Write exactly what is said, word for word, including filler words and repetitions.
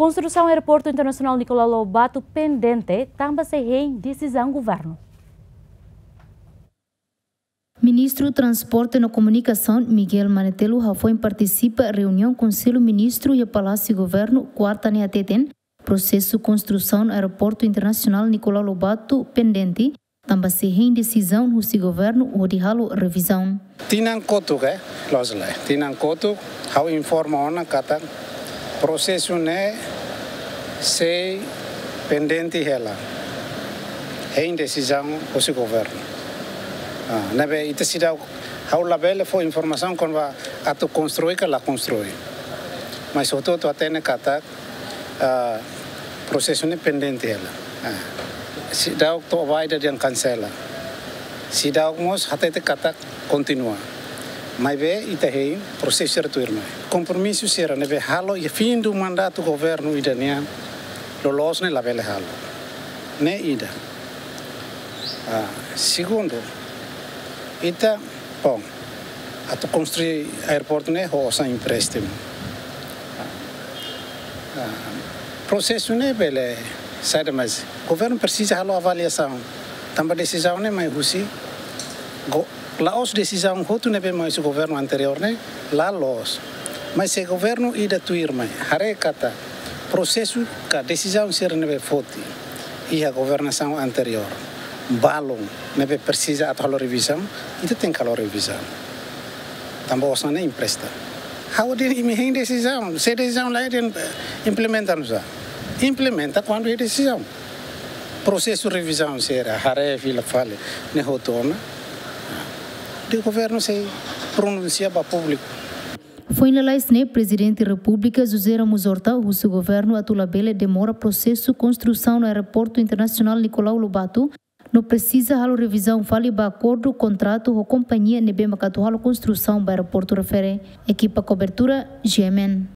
Konstrusaun Aeroportu Internasionál Nicolau Lobato pendente, tanba sei hein desizaun governu. Ministru Transporte no Komunikasaun, Miguel Manetelu, hafoin partisipa reuniaun Konsellu Ministru iha Palásiu Governu, kuarta ne'e hateten, prosesu konstrusaun Aeroportu Internasionál Nicolau Lobato pendente, tanba sei hein desizaun husi governu hodi halo revizaun. Tinan kotuk, eh, loos lai. Tinan kotuk, ha'u informa ona katak prosesu ne'e sei pendente hela. Hein desizaun husi governu. Ah, ne'ebé ita seidauk, ha'u labele fó informasaun kona-ba atu konstrui ka la konstrui. Mas hotu-hotu hatene katak, ah, prosesu ne'e pendente hela. Ah, seidauk to'o ba ida dehan kansela. Seidauk mós hatete katak kontinua. Maibé ita hein prosesu sira tuirmai. Kompromisu sira ne'ebé halo iha fim do mandatu governu ida nian, loloos ne'e labele halo. Ne'e ida. Ah, segundu, ita, bom, atu konstrui aeroportu ne'e ho osan empréstimu. Ah, prosesu ne'e bele saida, mas governu presiza halo avaliasaun. Tanba desizaun ne'e mai husi go-, la'ós desizaun hotu ne'ebé mai husi governu anteriór ne'e, la loos. Mas se governu ida tuirmai haree katak prosesu ka desizaun sira ne'ebé foti iha governasaun anteriór balun, ne'ebé presiza atu halo revizaun, ita tenke halo revizaun. Tanba osan ne'e empresta. Ha'u dehan imi hein desizaun, se desizaun la dehan, eh, implementa nusá. Implementa kuandu hein desizaun. Prosesu revizaun sira haree fila fali ne'e hotu ona, dehan governu sei pronunsia ba públiku. Foin lalais ne'e, Prezidente Repúblika José Ramos Horta husu governu atu labele demora prosesu konstrusaun Aeroportu Internasionál Nicolau Lobato, no presiza halo revizaun fali ba akordu kontratu ho kompañia ne'ebé mak atu halo konstrusaun ba aeroportu refere. Ekipa kobertura, G M N.